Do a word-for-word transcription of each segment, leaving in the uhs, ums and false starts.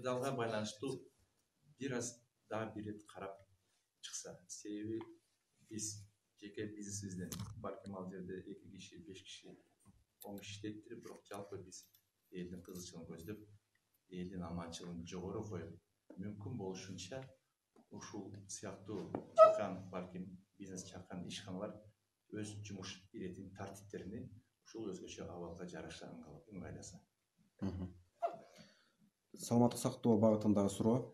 деталга байланыштуу бир аз дагы бир рет карап чыкса, себеби биз жеке бизнесибизден балким ал жерде эки киши, беш киши, он киши иштейттир, бирок жалпы биз элдин кызыкчылыгын көздөп, элдин аманчылыгын жогору коюп, мүмкүн болушунча ушул сыяктуу чакан балким бизнес чакан ишканалар өз жумуш иретин, тартиптерини ушул өзгөчө абалга жараша ыңгайласа. Саламаттык сактоо багытындагы суроо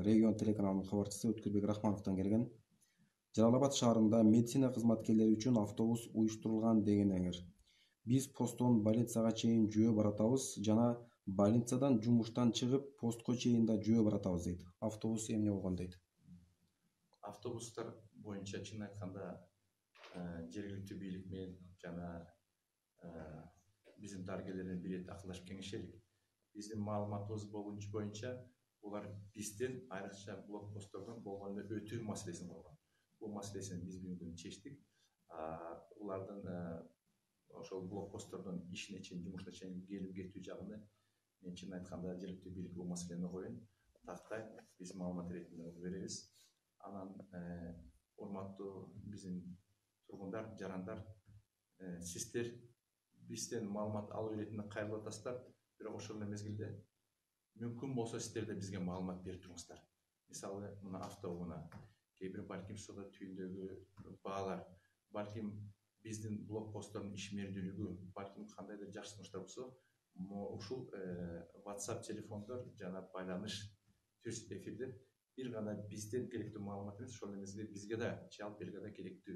Регион телеканалынын кабарчысы Өткүлбек Рахмановдон келген. Жалал Абад шаарында медицина кызматкерлери үчүн автобус уюштурулган дегениңер. Биз посттон больницага чейин жөө баратабыз жана больницадан жумуштан чыгып постко чейин да жөө баратабыз дейт. Автобус эмне болгон дейт. Автобустар боюнча чын айтканда жергиликтүү бийлик менен жана биздин дарыгерлерден бир рет акылдашып кеңешелик. Биздин маалыматыбыз боюнча булар бизден айрыкча блокпосттордон болгондо өтүү маселесин койгон. Бул маселесин биз бүгүн чечтик. Улардын ошол блокпосттордон ишине чейин, жумушуна чейин келип кетүү жагыны мен чын айтканда жергиликтүү бийлик бул маселени коюн, тактай биз маалымат иретинде беребиз. Анан урматтуу биздин тургундар, жарандар, сиздер бизден маалымат алуу иретинде кайрылып атасыздар, бирок ошол эле мезгилде мүмкүн болсо сиздер да бизге маалымат берип туруңуздар. Мисалы, мына автоунаа, кээ бир балким соода түйүндөгү баалар, балким биздин блокпосттордун ишмердүүлүгү, балким кандайдыр жакшы сунуштар болсо, ушул WhatsApp телефондор жана байланыш түз эфирдер бир гана бизден керектүү маалымат эмес, ошол эле мезгилде бизге да жалпы элге да керектүү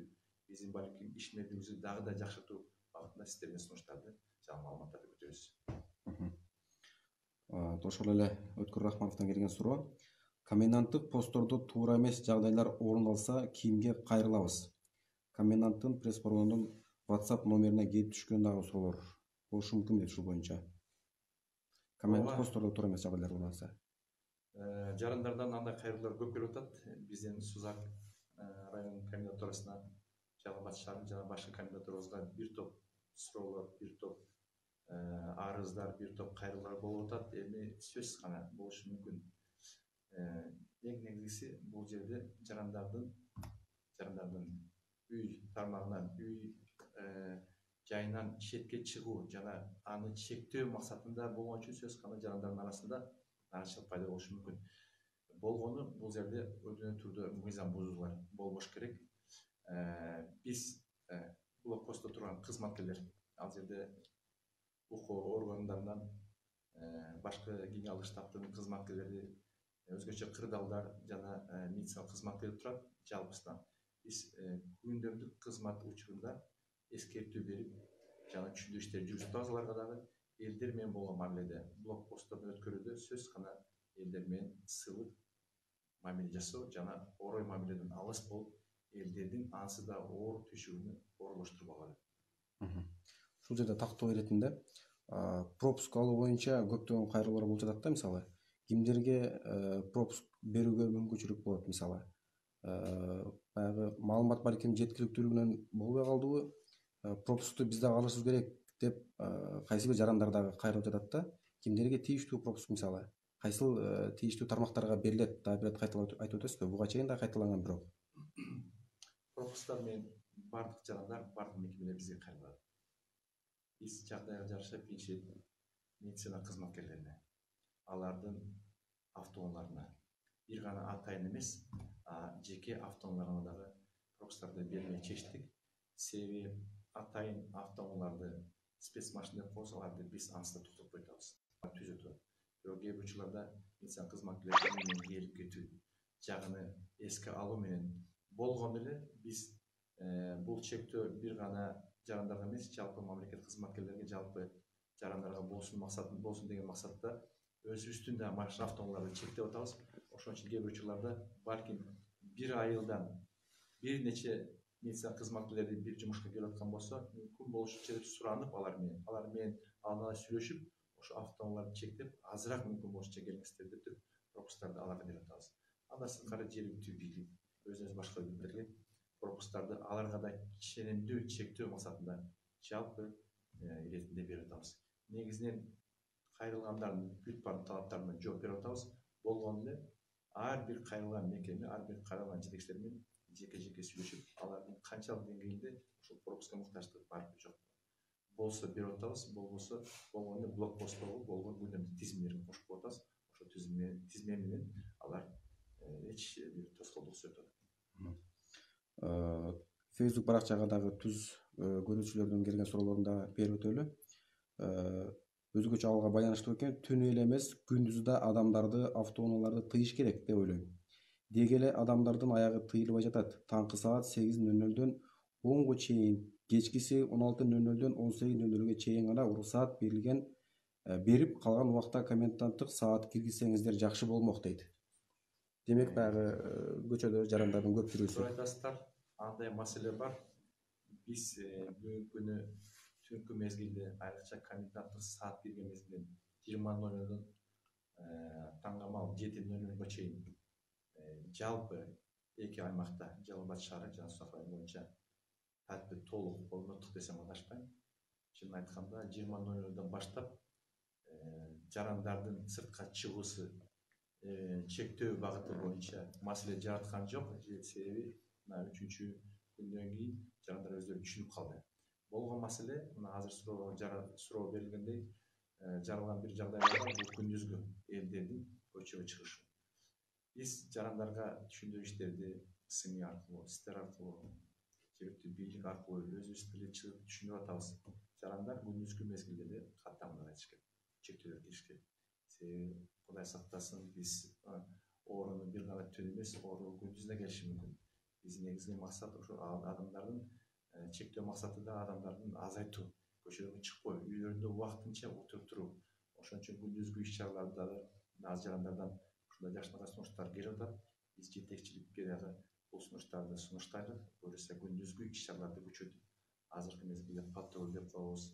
биздин балким ишмердүүлүгүбүздү дагы да жакшыртуу багытында сиздерден сунуштарды жана маалыматтарды күтөбүз. Ошол эле Өткүл Рахмановдон келген суроо. Коменданттык посттордо туура эмес жагдайлар орун алса, кимге кайрылабыз? Коменданттын пресс-борборунун WhatsApp номерине келип түшкөн дагы суроолор болушу мүмкүн дейт ушул боюнча. Коменданттык посттордо туура эмес жагдайлар орун алса. Жарандардан андай кайрылуулар көп келип атат. Биздин Сузак районунун комендатурасына, Жалал Абад шаарынын жана башка комендатурабызга бир топ суроолор, бир топ арыздар, бир топ кайрылуулар болуп атат. Эми сөзсүз гана болушу мүмкүн. Эң негизгиси бул жерде жарандардын жарандардын үй тармагынан, үй жайынан четке чыгуу жана аны чектөө максатында болгон үчүн сөзсүз гана жарандардын арасында нараачылык пайда болушу мүмкүн. Болгону бул жерде өдөн түрдө мыйзам бузуулар болбош керек. Биз блокпостто турган кызматкерлер, ал жерде укук органдарынан башка генералдык штабтын кызматкерлери, өзгөчө кырдаалдар жана медициналык кызматкерлер турат. Жалпысынан биз күндөмдүк кызмат учурунда эскертүү берип жана түшүндүрүү иштери жүргүзүп атабыз. Аларга дагы элдер менен болгон мамиледе, блокпосттордун өткөрүүдө сөзсүз гана элдер менен сылык мамиле жасоо жана орой мамиледен алыс болуп, элдердин ансыз да оор түйшүгүнү оорлоштурбагыла. Ушул жерде тактоо иретинде пропуск алуу боюнча көптөгөн кайрылуулар болуп жатат да, мисалы. Кимдерге пропуск берүүгө мүмкүнчүлүк болот, мисалы? Баягы маалымат балким жеткиликтүүлүгүнөн болбой калдыбы? Пропускту биз дагы алышыбыз керек деп кайсы бир жарандар дагы кайрылып жатат да. Кимдерге тийиштүү пропуск, мисалы? Кайсыл тийиштүү тармактарга берилет? Дагы бир кайталап айтып өтөсүзбү? Буга чейин да кайталанган бирок. Пропусктар менен бардык жарандар, бардык мекемелер бизге кайрылат. Биз жагдайга жараша биринчи медицина кызматкерлерине, алардын автоунааларына, бир гана атайын эмес, жеке автоунааларына дагы пропусктарды бермей чечтик. Себеби атайын автоунааларды спецмашина деп коебуз, аларды биз ансыз да токтотпой атабыз. Түзөтүп. Бирок кээ бир учурларда медицина кызматкерлери менен келип кетүү жагыны эске алуу менен болгону эле биз бул чектөө бир гана жарандарга эмес, жалпы мамлекет кызматкерлерге, жалпы жарандарга болсун максаты болсун деген максатта өзүбүздүн да машина автоунааларды чектеп атабыз. Ошон үчүн кээ бир учурларда балким бир айылдан бир нече медицина кызматкерлери бир жумушка келип аткан болсо, мүмкүн болушунча деп суранып алар менен, алар менен алына сүйлөшүп, ошо автоунааларды чектеп, азыраак мүмкүн болушунча келиңиздер деп туруп пропусктарды аларга берип атабыз. Андан сырткары жергиликтүү бийлик, өзүнүз башка бийликтерге пропусктарды аларга да ченемдүү чектөө максатында жалпы иретинде берип атабыз. Негизинен кайрылгандардын бүт баардык талаптарына жооп берип атабыз. Болгону эле ар бир кайрылган мекеме, ар бир кайрылган жетекчилер менен жеке жеке сүйлөшүп, алардын канчалык деңгээлде ушул пропуска муктаждыгы бар жок болсо берип атабыз, болбосо болгону эле блокпостторго болгон күнөмдүк тизимдерин кошуп атабыз. Ошо тизме тизме менен алар эч бир тоскоолдуксуз өтөт. Facebook баракчага дагы түз көрүүчүлөрдүн келген суроолорун да берип өтөлү. Өзгөчө абалга байланыштуу экен, түнү эле эмес, күндүзү да адамдарды, автоунааларды тыйыш керек деп ойлойм. Деги эле адамдардын аягы тыйылбай жатат. Таңкы саат сегиз нөл нөлдөн онго чейин, кечкиси он алты нөл нөлдөн он сегиз нөл нөлгө чейин гана уруксаат берилген, берип калган убакта коменданттык саат киргизсеңиздер жакшы болмок дейт. Демек баягы көчөдө жарандардын көп жүрүүсү. Туура айтасыздар, андай маселе бар. Биз бүгүнкү күнү түнкү мезгилде, айрыкча коменданттык саат кирген мезгилде жыйырма нөл нөлдөн таңгамал жети нөл нөлгө чейин жалпы эки аймакта, Жалал Абад шаары жана Созак району боюнча тартип толук орноттук десем адашпайм. Чынын айтканда жыйырма нөл нөлдөн баштап жарандардын сыртка чыгуусу чектөө багыты боюнча маселе жараткан жок. Себеби мына үчүнчү күндөн кийин жарандар өздөрү түшүнүп калды. Болгон маселе мына азыр суроо суроо берилгендей жаралган бир жагдай бар, бул күндүзгү элдердин көчөгө чыгышы. Биз жарандарга түшүндүрүү иштерди СМИ аркылуу, сиздер аркылуу, жергиликтүү бийлик аркылуу өзүбүз тилде чыгып түшүндүрүп атабыз. Жарандар күндүзгү мезгилде эле каттамага кетиш керек, чектөөлөр кириш керек. Себеби Кудай сактасын, биз ооруну бир гана түн эмес, оору күндүз да келиши мүмкүн. Биздин негизги максат ошо адамдардын чектөө максаты да адамдардын азайтуу, көчөлөргө чыкпоо, үйлөрүндө убактынча отуруп туруу. Ошон үчүн күндүзгү иш чараларда да аз жарандардан ушундай жакшынакай сунуштар келип атат. Биз жетекчиликке дагы бул сунуштарды сунуштайлы. Буюрса күндүзгү иш чараларды күчөтүп, азыркы мезгилде патруль деп коебуз,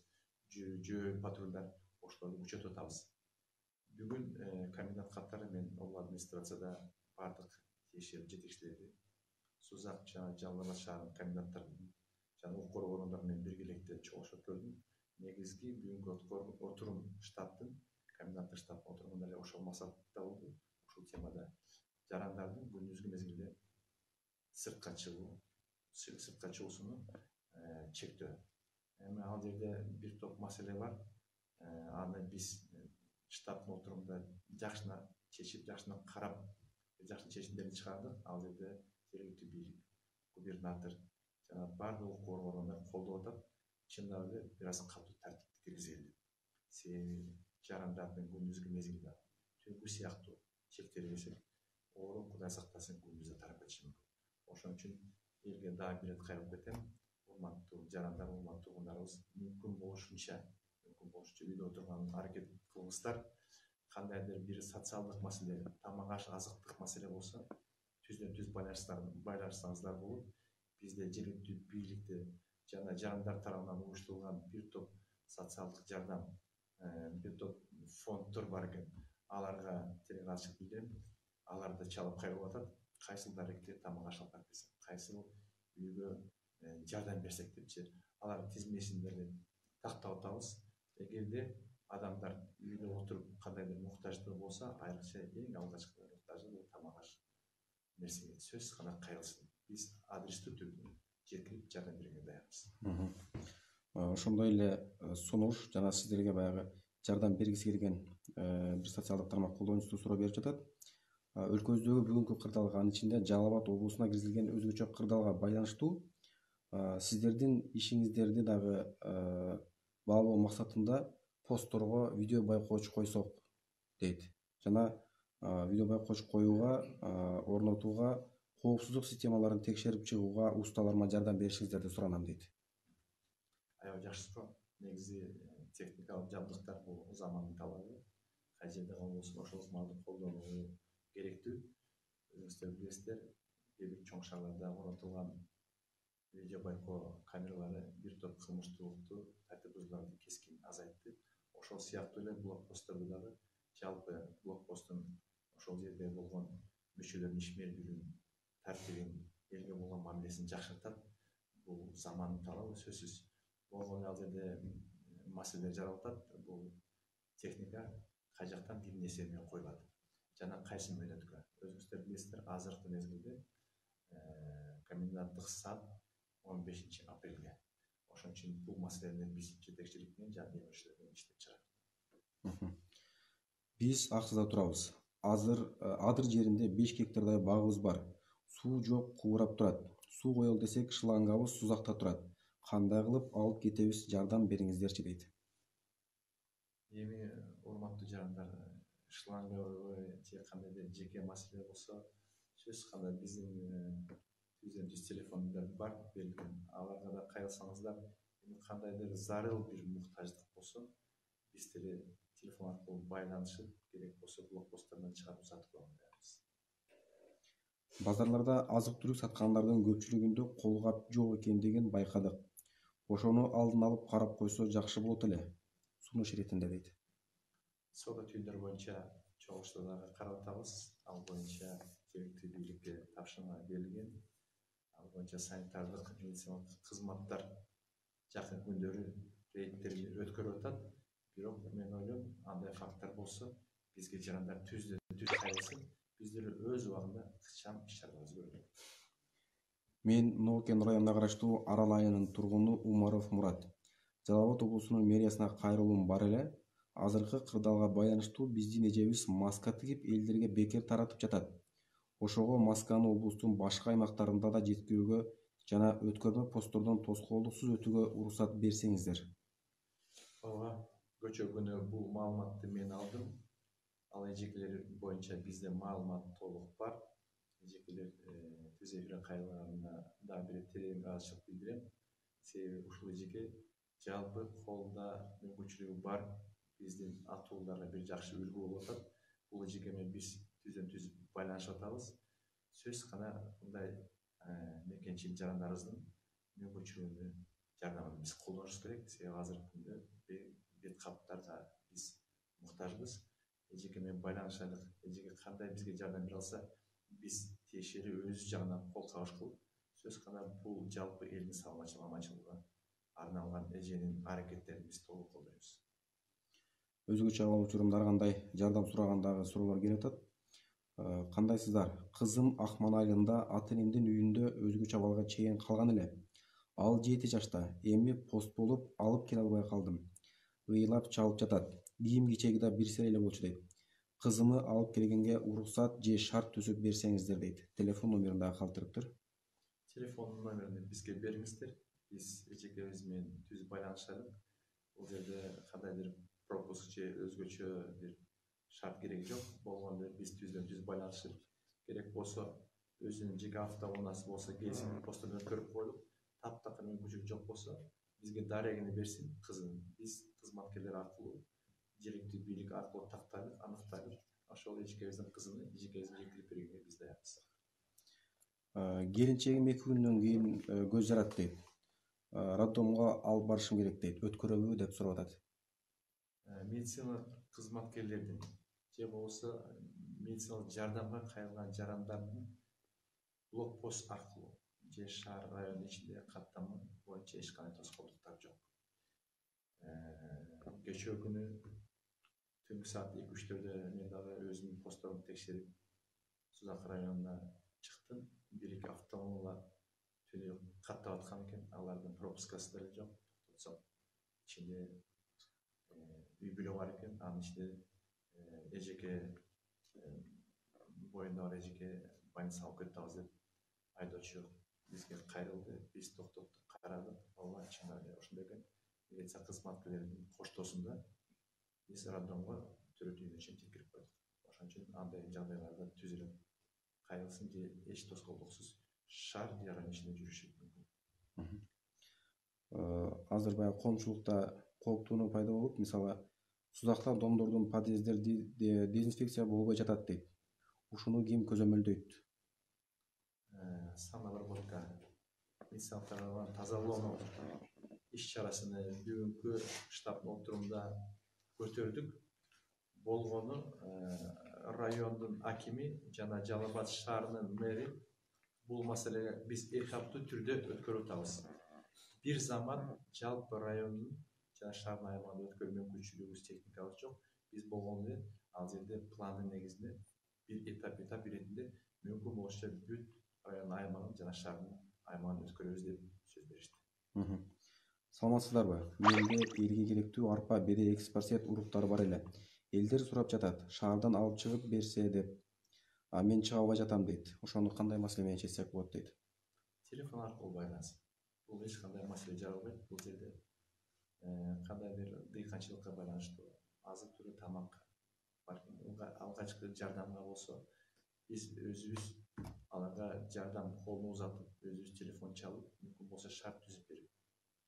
жөө патрулдар, ошолорду күчөтүп атабыз. Бүгүн комендант каттары мен облус администрацияда бардык тиешелүү жетекчилерди, Созак жана Жалал Абад шаарынын коменданттарын жана укук органдары менен биргеликте чогулуштуруп көрдүм. Негизги бүгүнкү отурум штабтын, коменданттык штабтын отурумунда эле ошол максатта болду. Ушул темада жарандардын күндүзгү мезгилде сыртка чыгуу, сыртка чыгуусуну чектөө. Эми ал жерде бир топ маселе бар. Аны биз штабтын отурумунда жакшына чечип, жакшына карап, жакшы чечимдерди чыгардык. Ал жерде жергиликтүү бийлик, губернатор жана бардык укук органдары колдоп атат. Чындап эле бир аз катуу тартипти киргизели. Себеби жарандардын күндүзгү мезгилде түнкү сыяктуу чектелбесек, оору Кудай сактасын күндүз да тарап кетиши мүмкүн. Ошон үчүн элге дагы бир ирет кайрылып кетем. Урматтуу жарандар, урматтуу туугандарыбыз, мүмкүн болушунча, мүмкүн болушунча үйдө отурган аракет кылыңыздар. Кандайдыр бир социалдык маселе, тамак аш, азыктык маселе болсо, түздөн түз байланышсаңыздар болот. Бизде жергиликтүү бийликте жана жарандар тарабынан уюштурулган бир топ социалдык жардам, бир топ фонддор бар экен. Аларга терең ачык билдирем. Алар да чалып кайрылып атат. Кайсыл дарекке тамак аш алып барып берсек, кайсыл үйгө жардам берсек депчи, алар тизмесин деле тактап атабыз. Эгерде адамдар үйдө отуруп кандайдыр муктаждыгы болсо, айрыкча эң алгачкы муктаждыгы бул тамак аш нерсеге сөзсүз гана кайрылсын. Биз адрестүү түрдө жеткирип жардам берүүгө даярбыз. Ошондой эле сунуш жана сиздерге баягы жардам бергиси келген бир социалдык тармак колдонуучусу суроо берип жатат. Өлкөбүздөгү бүгүнкү кырдаалга, анын ичинде Жалал Абад облусуна киргизилген өзгөчө кырдаалга байланыштуу сиздердин ишиңиздерди дагы баалоо максатында постторго видео байкооч койсок дейт. Жана видео байкооч коюуга, орнотууга, коопсуздук системаларын текшерип чыгууга усталарыма жардам беришиңиздерди суранам дейт. Аябай жакшы суроо. Негизи техникалык жабдыктар бул замандын талабы. Кай жерде болсо ошол маалды колдонуу керектүү. Өзүңүздөр билесиздер, кээ бир чоң шаарларда орнотулган видео байкоо камералары бир топ кылмыштуулукту, тартип бузууларды кескин азайтты. Ошол сыяктуу эле блокпостторду дагы жалпы блокпосттун ошол жерде болгон мүчөлөрдүн ишмердүүлүгүн, тартибин, элге болгон мамилесин жакшыртат. Бул замандын талабы сөзсүз. Болгону ал жерде маселелер жаралып атат. Бул техника кай жактан эмне нерсе менен коюлат жана кайсы мөөнөткө. Өзүңүздөр билесиздер, азыркы мезгилде коменданттык саат он бешинчи апрелге. Ошон үчүн бул маселени биз жетекчилик менен жана демөөрчүлөр менен иштеп чыгабыз. Биз Аксыда турабыз. Азыр Адыр жеринде беш гектардай багыбыз бар. Суу жок, кубурап турат. Суу коелу десек, шлангабыз Сузакта турат. Кандай кылып алып кетебиз, жардам бериңиздерчи дейт. Эми урматтуу жарандар, шлангабы же кандай да жеке маселе болсо, сөзсүз кандай биздин жүз жүз телефондар бар берилген. Аларга да кайрылсаңыздар, кандайдыр зарыл бир муктаждык болсо, биз деле телефон аркылуу байланышып, керек болсо блокпосттардан чыгарып сатып алабыз. Базарларда азык-түлүк саткандардын көпчүлүгүндө колгап жок экендигин байкадык. Ошону алдын алып карап койсо жакшы болот эле. Сунуш иретинде дейт. Соода түйүндөр боюнча чогулуштарды карап атабыз. Ал боюнча жергиликтүү бийликке тапшырма берилген. Ал боюнча санитардык медициналык кызматтар жакын күндөрү рейдтерди өткөрүп атат. Бирок мен ойлойм, андай факттар болсо, бизге жарандар түздөн түз кайрылсын, биздер өз убагында ыкчам иш-чараларыбызды көрөлүк. Мен Ноокен районуна караштуу Арал айылынын тургуну Умаров Мурат. Жалал Абад облусунун мэриясына кайрылуум бар эле. Азыркы кырдаалга байланыштуу биздин эжебиз маска тигип элдерге бекер таратып жатат. Ошого масканы облустун башка аймактарында да жеткирүүгө жана өткөрмө посттордон тоскоолдуксуз өтүүгө уруксат берсеңиздер. Ооба, көчө күнү бул маалыматты мен алдым. Ал эжекелер боюнча бизде маалымат толук бар. Эжекелер түз эфирге кайрылганына да бир терең ыраазычылык билдирем. Себеби ушул эжеке жалпы колунда мүмкүнчүлүгү бар биздин атууларга бир жакшы үлгү болуп атат. Бул эжеке менен биз түздөн түз байланышып атабыз. Сөзсүз гана мындай мекенчил жарандарыбыздын мүмкүнчүлүгүнө жардамын биз колдонушубуз керек. Себеби азыркы күндө бет каптарга биз муктажбыз. Эжеке менен байланышайлык. Эжеке кандай бизге жардам бере алса, биз тиешелүү өз жагынан кол кабыш кылып, сөзсүз гана бул жалпы элдин саламатчылыгы аманчылыгына арналган эженин аракеттерин биз толук колдойбуз. Өзгөчө абал учурунда ар кандай жардам сурагандагы суроолор келип атат. Кандайсыздар? Кызым Акман айылында ата-энемдин үйүндө өзгөчө абалга чейин калган эле. Ал жети жашта. Эми пост болуп алып келе албай калдым. Ыйлап чалып жатат. Кийим-кечеги да бир сыйра эле болчу дейт. Кызымы алып келгенге уруксат же шарт түзүп берсеңиздер дейт. Телефон номерин дагы калтырыптыр. Телефон номерин бизге бериңиздер. Биз эжекебиз менен түз байланышайлык. Бул жерде кандайдыр пропуск же өзгөчө бир шарт кереги жок. Болгондо биз түздөн түз байланышып, керек болсо өзүнүн жеке автоунаасы болсо келсин, посттордон өткөрүп коелук. Таптакыр мүмкүнчүлүк жок болсо, бизге дарегини берсин, кызын биз кызматкерлер аркылуу, жергиликтүү бийлик аркылуу тактайлык, аныктайлык. Ошол эжекебиздин кызын эжекебизге жеткирип бергенге биз даярбыз. Келинчегим эки күндөн кийин көз жарат дейт. Роддомго алып барышым керек дейт. Өткөрөбү деп сурап атат. Медициналык кызматкерлердин же болбосо медициналык жардамга кайрылган жарандардын блокпост аркылуу же шаар районунун ичинде каттама боюнча эч кандай тоскоолдуктар жок. Кечээ күнү түнкү саат эки үчтөрдө мен дагы өзүмдүн постторумду текшерип Сузак районуна чыктым. Бир эки автоунаалар түнү каттап аткан экен. Алардын пропускасы деле жок. Токтотсок ичинде үй бүлө бар экен. Анын ичинде эжеке боюнда бар эжеке больницага алып кетип атабыз деп айдоочу бизге кайрылды. Биз токтоттук, карадык. Ооба, чын эле ошондой экен. Милиция кызматкерлеринин коштоосунда биз роддомго төрөт үйүнө чейин жеткирип койдук. Ошон үчүн андай жагдайларда түз эле кайрылсын же эч тоскоолдуксуз шаар же район ичинде жүрүшү мүмкүн. Азыр баягы коомчулукта кооптонуу пайда болуп, мисалы, Сузакта домдордун подъезддери дезинфекция болбой жатат дейт. Ушуну ким көзөмөлдөйт? Санобработка медициналык тазалоонун иш-чарасыны бүгүнкү штаб отурумда көтөрдүк. Болгону райондун акими жана Жалал Абад шаарынын мэри бул маселеге биз этаптуу түрдө өткөрүп атабыз. Бир замат жалпы райондун жана шаардын аймагында өткөрүү мүмкүнчүлүгүбүз техникабыз жок. Биз болгону эле ал жерде пландын негизинде бир этап этап иретинде мүмкүн болушунча бүт райондун аймагын жана шаардын аймагын өткөрөбүз деп сөз беришти. Саламатсыздарбы? Менде элге керектүү арпа, бере, экспорт уруктары бар эле. Элдер сурап жатат, шаардан алып чыгып берсе деп. А мен чыга албай жатам дейт. Ошону кандай маселе менен чечсек болот дейт. Телефон аркылуу байланыш. Бул эч кандай маселе жаралбайт. Бул жерде кандайдыр дыйканчылыкка байланыштуу азык түлүк тамак алгачкы жардамга болсо биз өзүбүз аларга жардам колун узатып, өзүбүз телефон чалып, мүмкүн болсо шарт түзүп берип,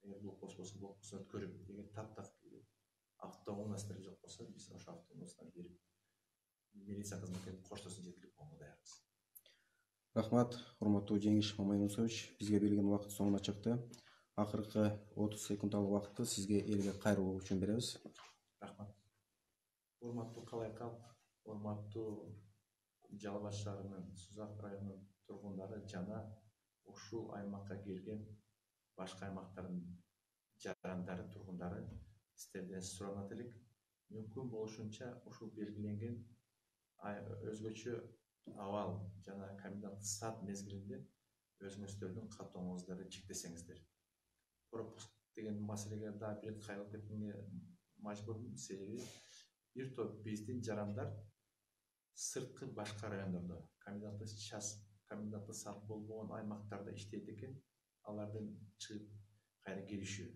эгер блокпост болсо блокпосттон көрүп, эгер таптак автоунаастар жок болсо биз ошо автоунаастан берип, милиция кызматкерлери коштосун жеткирип коюнга даярбыз. Рахмат, урматтуу Жеңиш Мамайнусович. Бизге берилген убакыт соңуна чыкты. Акыркы отуз секундалык убакытты сизге элге кайрылуу үчүн беребиз. Рахмат. Урматтуу калай калк, урматтуу Жалал Абад шаарынын Сузак районунун тургундары жана ушул аймакка келген башка аймактардын жарандары, тургундары, сиздерден суранат элек. Мүмкүн болушунча ушул белгиленген өзгөчө абал жана коменданттык саат мезгилинде өзүңүздөрдүн каттооңуңуздарды чектесеңиздер. Пропуск деген маселеге дагы бир кайрылып кеткенге мажбурмун, себеби бир топ биздин жарандар сырткы башка райондордо, коменданттык час, коменданттык саат болбогон аймактарда иштейт экен. Алардын чыгып кайра келишүү.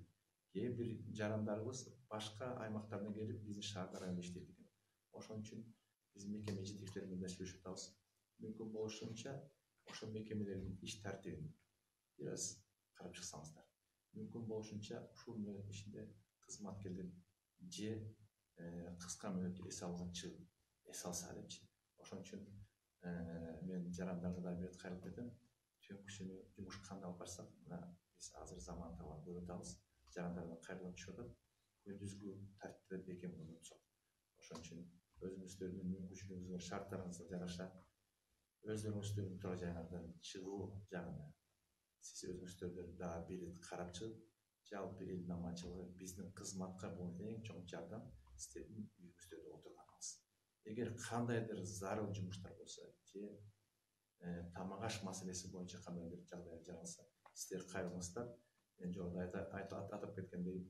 Кээ бир жарандарыбыз башка аймактардан келип биздин шаарда районда иштейт экен. Ошон үчүн биз мекеме жетекчилери менен сүйлөшүп атабыз. Мүмкүн болушунча ошол мекемелердин иш тартибин бир аз карап чыксаңыздар. Мүмкүн болушунча ушул мөөнөт ичинде кызматкерлер же кыска мөөнөттө эс алууга чыгып эс алса депчи. Ошон үчүн мен жарандарга да бир кайрылып кетем. Түнкүсүнү жумуш кандай алып барсак, биз азыр заман талабын көрүп атабыз. Жарандардан кайрылып түшүп атат. Күндүзгү тартипте бекем орнотсок. Ошон үчүн өзүңүздөрдүн мүмкүнчүлүгүңүзгө, шарттарыңызга жараша өздөрүңүздүн тура жайыңардан чыгуу жагына сиз өзүңүздөрдү дагы бир ирет карап чыгып, жалпы элдин аманчылыгы, биздин кызматка болгон эң чоң жардам сиздердин үйүңүздөрдө отурганыңыз. Эгер кандайдыр зарыл жумуштар болсо, же тамак аш маселеси боюнча кандайдыр жагдай жаралса, сиздер кайрылыңыздар. Мен жогоруда атап кеткендей,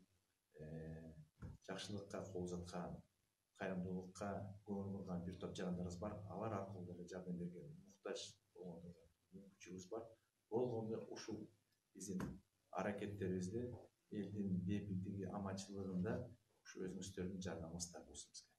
жакшылыкка кол узаткан, кайрымдуулукка көңүл бурган бир топ жарандарыбыз бар. Алар аркылуу деле жардам берген муктаж болгондорго мүмкүнчүлүгүбүз бар. Болгондо ушул биздин аракеттерибизде элдин бейбиттиги, аманчылыгында ушу өзүңүздөрдүн жардамыңыз да болсун бизге.